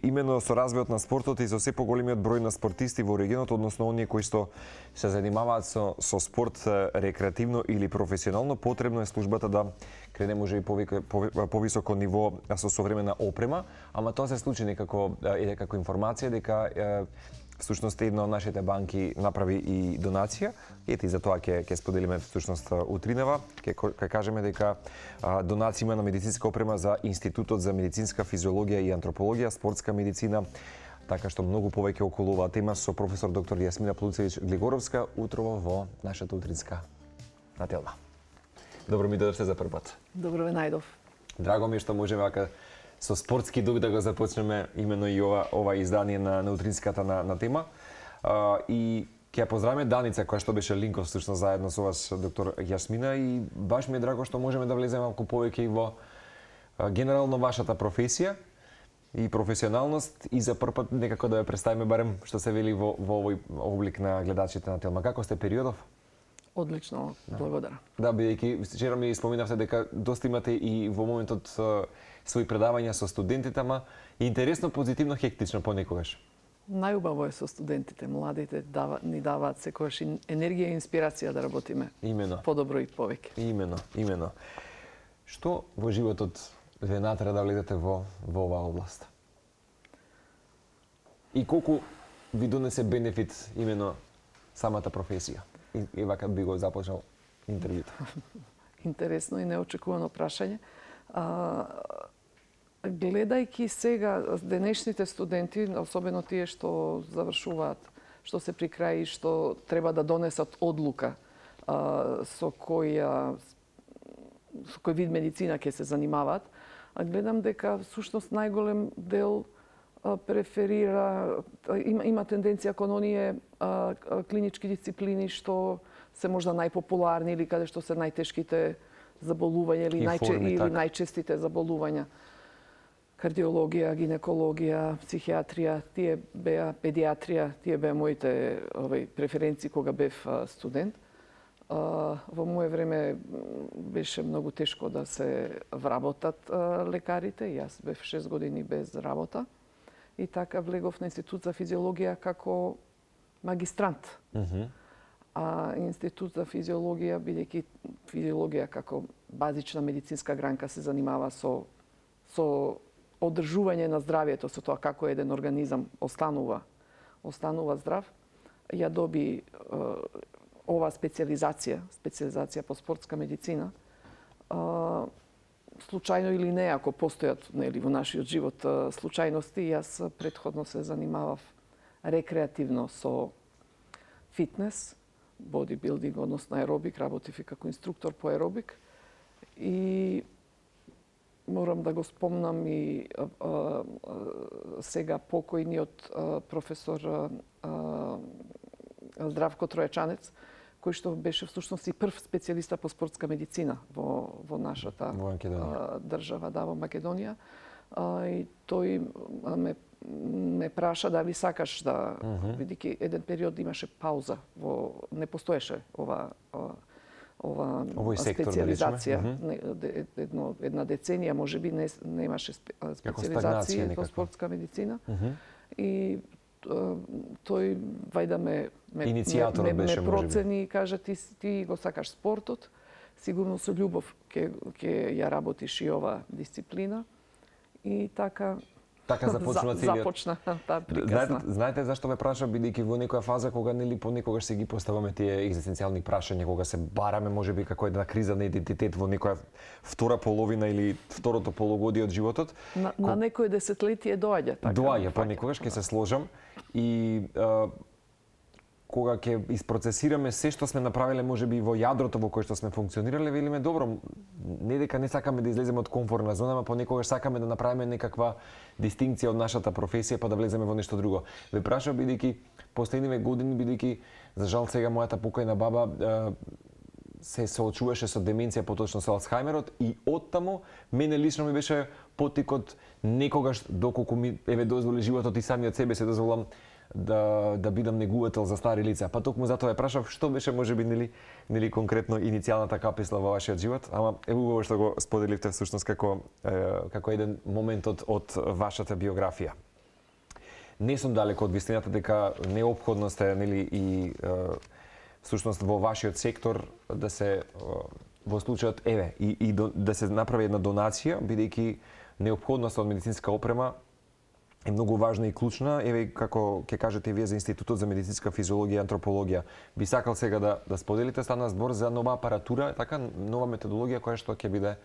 именно со развојот на спортот и со се поголемиот број на спортисти во регионот, односно оние кои што се занимаваат со спорт рекреативно или професионално, потребно е службата да крене може и повисоко ниво со современа опрема, ама тоа се случи некако како информација дека всушност една од нашите банки направи и донација. Ете, за тоа ќе споделиме всушност утринава. Ќе кажеме дека донација има на медицинска опрема за Институтот за медицинска физиологија и антропологија, спортска медицина, така што многу повеќе околу оваа тема со професор доктор Јасмина Плуцевиќ-Глигоровска утрово во нашата утринска нателна. Добро ми дојдовте за прв пат. Добро ве најдов. Драго ми е што можеме вака со спортски дух да го започнеме именно и ова издание на утринската на тема. И ќе ја поздравиме Даница, која што беше линков всушност заедно со вас, доктор Јасмина, и баш ми е драго што можеме да влеземе малку повеќе и во генерално вашата професија и професионалност, и за прв пат некако да ја представиме барем што се вели во овој облик на гледачите на Телма. Како сте периодов? Одлично, благодарам. Да, бидејќи вчера ми споминавте дека доста имате и во моментот своји предавања со студентите, ама интересно, позитивно, хектично понекогаш. Најубаво е со студентите, младите ни даваат секогаш енергија и инспирација да работиме. Имено. Подобро и повеќе. Имено. Што во животот ве натера да влезете во оваа област? И колку ви донесе бенефит именно самата професија? И вака би го започнал интервјуто. Интересно и неочекувано прашање. Гледајќи сега денешните студенти, особено тие што завршуваат, што се при крај и што треба да донесат одлука со кој вид медицина ќе се занимаваат, гледам дека всушност најголем дел преферира, има тенденција кон оние клинички дисциплини што се можда најпопуларни или каде што се најтешките заболувања или најчестите заболувања. Кардиологија, гинекологија, психијатрија, тие беа педиатрија, тие беа моите преференции кога бев студент. Во моје време беше многу тешко да се вработат лекарите. Јас бев 6 години без работа. И така влегов на Институт за физиологија како магистрант. А Институт за физиологија, бидејќи физиологија како базична медицинска гранка се занимава со одржување на здравието, со тоа како еден организам останува здрав, ја доби оваа специализација по спортска медицина. Случајно или не, ако постојат во нашиот живот случајности, јас претходно се занимавав рекреативно со фитнес, бодибилдинг, односно аеробик, работив и како инструктор по аеробик. И морам да го спомнам и сега покојниот професор Здравко Тројачанец, кој што беше всушност и прв специјалиста по спортска медицина во нашата држава, во Македонија. И тој ме праша дали сакаш да, бидејќи еден период имаше пауза, не постоеше ова специализација. Една деценија можеби немаше специализација во спортска медицина. И тој вајда ме процени и кажа ти го сакаш спортот, сигурно со љубов ќе ја работиш и ова дисциплина. И така започна таа приказна. Знаете зашто ве прашам, бидејќи во некоја фаза кога нели понекогаш се ги поставаме тие екзистенцијални прашања, кога се бараме можеби како една криза на идентитет во некоја втора половина или второто полугодие од животот. На некое десетлетие доаѓа така. Доаѓа понекогаш, ќе се сложам, и кога ќе isprocesirаме се што сме направиле можеби во јадрото во кое што сме функционирале, велиме добро, не дека не сакаме да излеземе од комфортна зона, ама понекогаш сакаме да направиме некаква дистинкција од нашата професија па да влеземе во нешто друго. Ве прашав бидејќи последниве години, бидејќи за жал сега мојата покојна баба се соочуваше со деменција, поточно со Алцхајмерот, и оттаму мене лично ми беше потикот некогаш доколку ми дозволи животот и самиот себе се дозволам да бидам негувател за стари лица. Па токму затоа ја прашав што беше можеби нели конкретно иницијалната каписла во вашиот живот, ама е убаво што го споделивте всушност како еден момент од вашата биографија. не сум далеко од вистината дека неопходност е, нели, и всушност во вашиот сектор да се во случајот да се направи една донација, бидејќи неопходноста од медицинска опрема е многу важна и клучна. Еве, како ќе кажете вие за Институтот за медицинска физиологија и антропологија, би сакал сега да споделите, стана збор за нова апаратура, така нова методологија која што ќе биде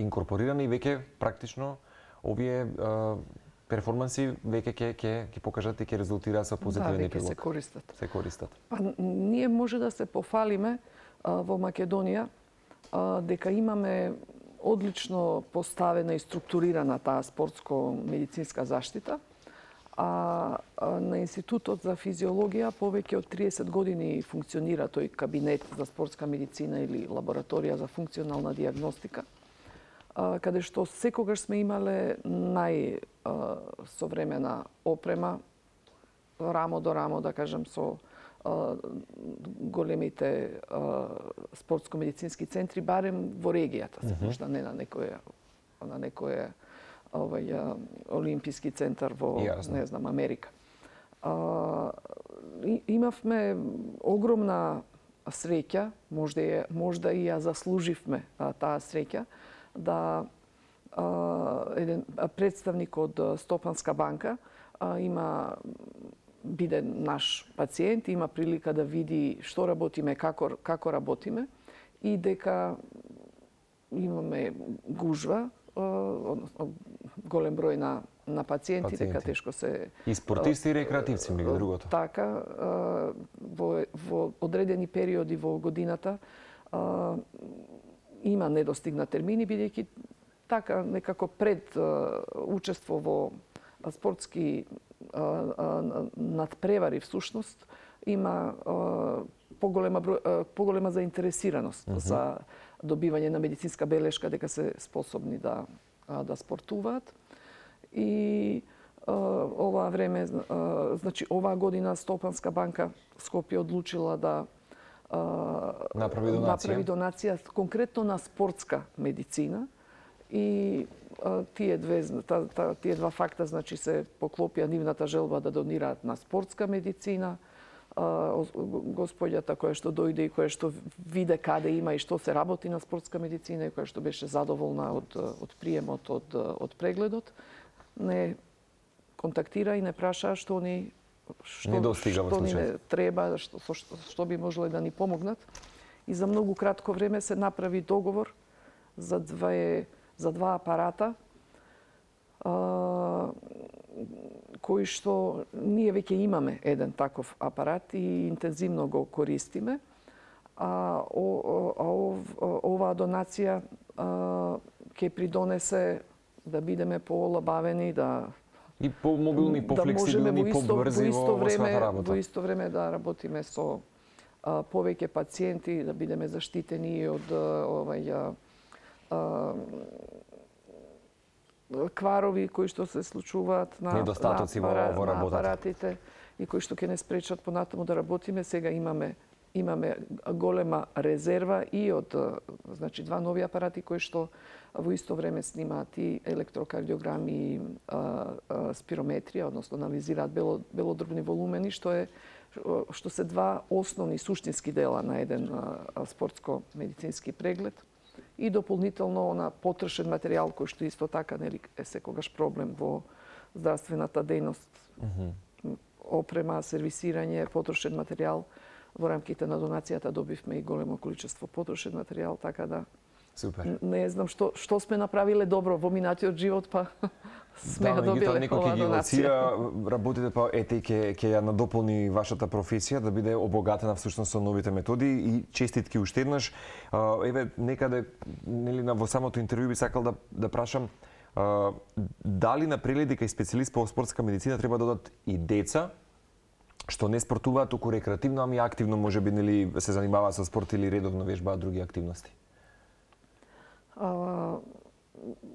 инкорпорирана и веќе практично овие перформанси веќе ќе покажат и ќе резултираат со позитивен епилог. Да, веќе се користат. Па, ние може да се пофалиме во Македонија дека имаме одлично поставена и структурирана таа спортско-медицинска заштита. А на Институтот за физиологија повеќе од 30 години функционира тој кабинет за спортска медицина или лабораторија за функционална диагностика, каде што секогаш сме имале најсовремена опрема, рамо до рамо, да кажем, со големите спортско-медицински центри, барем во регијата, можда не на некој олимписки центар во, не знам, Америка. Имавме огромна среќа, можда и ја заслуживме таа среќа, да еден представник од Стопанска банка биде наш пациент, има прилика да види што работиме, како работиме и дека имаме гужва, голем број на пациенти, дека тешко се... И спортисти и рекреативци, меѓу другото. Така, во одредени периоди во годината има недостигна термини, бидејќи така некако пред учество во спортски надпревари всушност има поголема заинтересираност за добивање на медицинска белешка дека се способни да спортуваат. И оваа време, значи оваа година Стопанска банка Скопје одлучила да направи донација конкретно на спортска медицина и тие два факта, значи, се поклопија нивната желба да донираат на спортска медицина. Господјата која што дојде и која што виде каде има и што се работи на спортска медицина и која што беше задоволна од приемот од прегледот, не контактира и не праша што ни треба, што би можеле да ни помогнат. И за многу кратко време се направи договор за два апарата, кои што ние веќе имаме еден таков апарат и интензивно го користиме. Оваа донација ќе придонесе да бидеме полабавени, и помобилни, пофлексибилни, побрзи во својата работа. Во исто време да работиме со повеќе пациенти, да бидеме заштитени од кварови кои што се случуваат на апаратите и кои што ќе не спречат понатаму да работиме. Сега имаме голема резерва и од два нови апарати кои што во исто време снимаат и електрокардиограми и спирометрија, односно анализираат белодробни волумени, што се два основни суштински дела на еден спортско-медицински преглед. И дополнително на потрошен материјал кој што исто така е секогаш проблем во здравствената дејност. Опрема, сервисирање, потрошен материјал. Во рамките на донацијата добивме и големо количество потрошен материјал, така да супер. Не знам што сме направиле добро во минатиот живот, па сме ја добиле оваа донација. Работите па ќе ја надополни вашата професија да биде обогатена всушност со новите методи и честитки уште еднаш. Еве некаде во самото интервју би сакал да прашам дали напрели дека и специјалист по спортска медицина треба да додат и деца што не спортуваат туку рекреативно, ами активно можеби се занимаваат со спорт или редовно вежбаат други активности?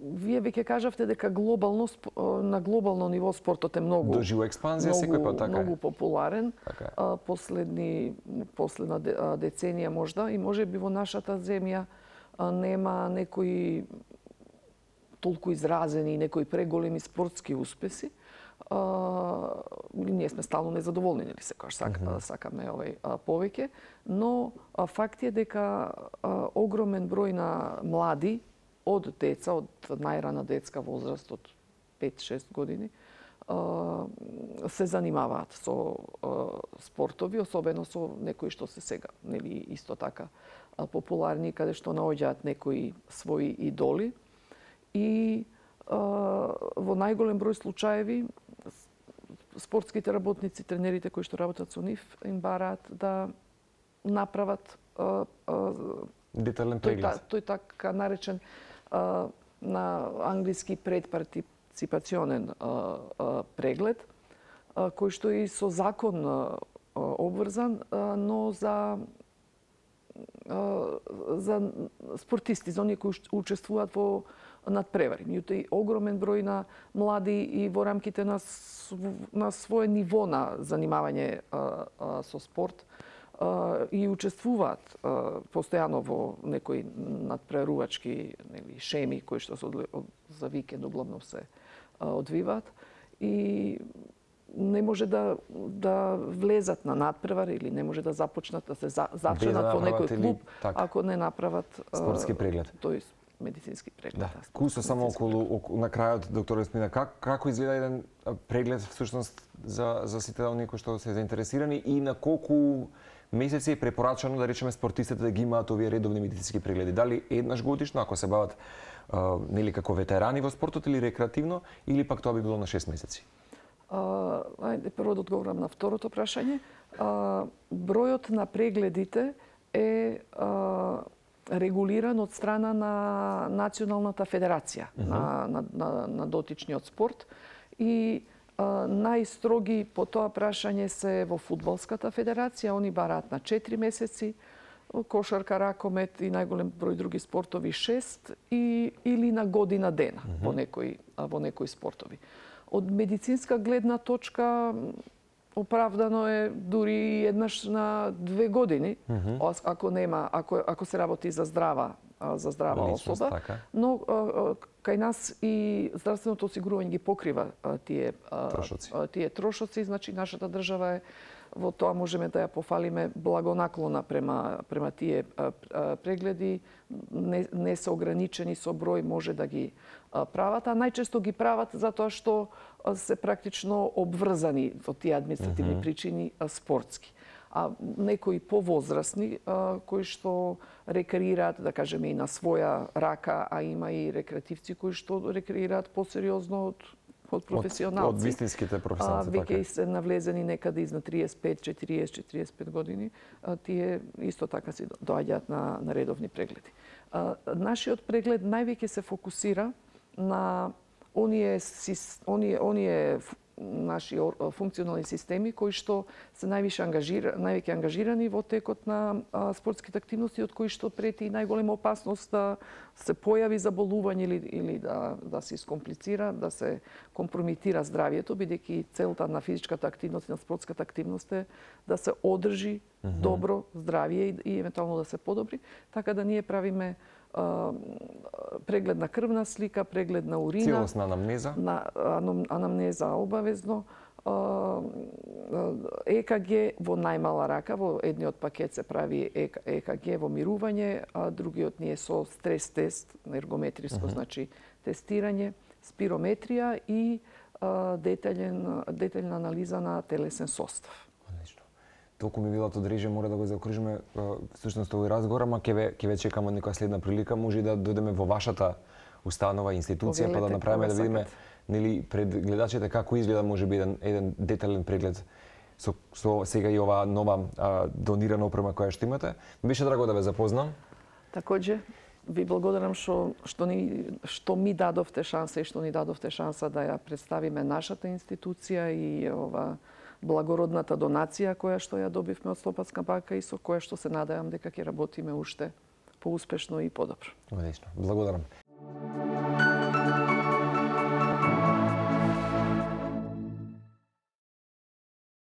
Вие веќе кажавте дека на глобално ниво спортот е многу доживува експанзија секој пат, така многу популарен. Последна деценија можда и можеби во нашата земја нема некои толку изразени и некои преголеми спортски успеси. ние сме стално незадоволни, нели секогаш сакаме повеќе, но факт е дека огромен број на млади од деца, од најрана детска возраст, од 5-6 години, се занимаваат со спортови, особено со некои што се сега, нели исто така популарни, каде што наоѓаат некои своји идоли. И во најголем број случаеви спортските работници, тренерите кои што работат со нив, им бараат да направат детален преглед. Тој така наречен на англиски предпартиципационен преглед, кој што и со закон обврзан, но за спортисти, за оние кои учествуваат во надпревари. Меѓутоа и огромен број на млади и во рамките на свое ниво на занимавање со спорт и учествуваат постојано во некои надпреварувачки шеми кои што за викенд углавно се одвиваат и не може да влезат на надпревар или не може да започнат да се зачленат во некој клуб ако не направат спортски преглед. Тој медицински преглед. Да. Кусо само околу на крајот, доктор Еспина, како изгледа еден преглед всушност за сите оние кои што се заинтересирани и на колку месеци е препорачано да речеме спортистите да ги имаат овие редовни медицински прегледи? Дали еднаш годишно ако се бават нели како ветерани во спортот или рекреативно, или пак тоа би било на 6 месеци? Ајде прво да одговорам на второто прашање. Бројот на прегледите е регулиран од страна на Националната федерација на дотичниот спорт и најстроги по тоа прашање се во фудбалската федерација, они бараат на 4 месеци, кошарка, ракомет и најголем број други спортови 6 или на година дена во некои спортови. Од медицинска гледна точка оправдано е дури еднаш на 2 години, ако се работи за здрава особа, така. Но кај нас и здравственото осигурување ги покрива тие трошоци, значи нашата држава е во тоа можеме да ја пофалиме благонаклона према тие прегледи, не се ограничени со број, може да ги прават, а најчесто ги прават затоа што се практично обврзани во тие административни причини спортски. А некои повозрасни кои што рекреираат, да кажеме, и на своја рака, а има и рекреативци кои што рекреираат посериозно од професионалци. Од вистинските професионалци, така. Веќе се навлезени некаде изнад 35, 40, 45 години, тие исто така си доаѓаат на редовни прегледи. Нашиот преглед највеќе се фокусира на оние наши функционални системи кои што се највеќе ангажирани во текот на спортските активности, од кои што прети најголема опасност да се појави заболување или да се искомплицира, да се компромитира здравието, бидејќи целта на физичката активност и на спортската активност е да се одржи добро здравје и евентуално да се подобри, така да ние правиме преглед на крвна слика, преглед на урина, целосна анамнеза, анамнеза обавезно, ЕКГ во најмала рака, во едниот пакет се прави ЕКГ во мирување, а другиот ни е со стрес тест, ергометриско, значи тестирање, спирометрија и детаљна анализа на телесен состав. Толку ми било од реже, мора да го заокружиме всушност овој разговор, ама ќе ве чекаме некоја следна прилика, може и да дојдеме во вашата установа институција, па да направиме да видиме нели пред гледачите како изгледа можеби еден детален преглед со сега и оваа нова донирана опрема која што имате. Беше драго да ве запознам. Такоđe, ви благодарам што ми дадовте шанса и што ни дадовте шанса да ја представиме нашата институција и ова благородната донација која што ја добивме од Слободска банка и со која што се надевам дека ќе работиме уште поуспешно и подобро. Одлично. Благодарам.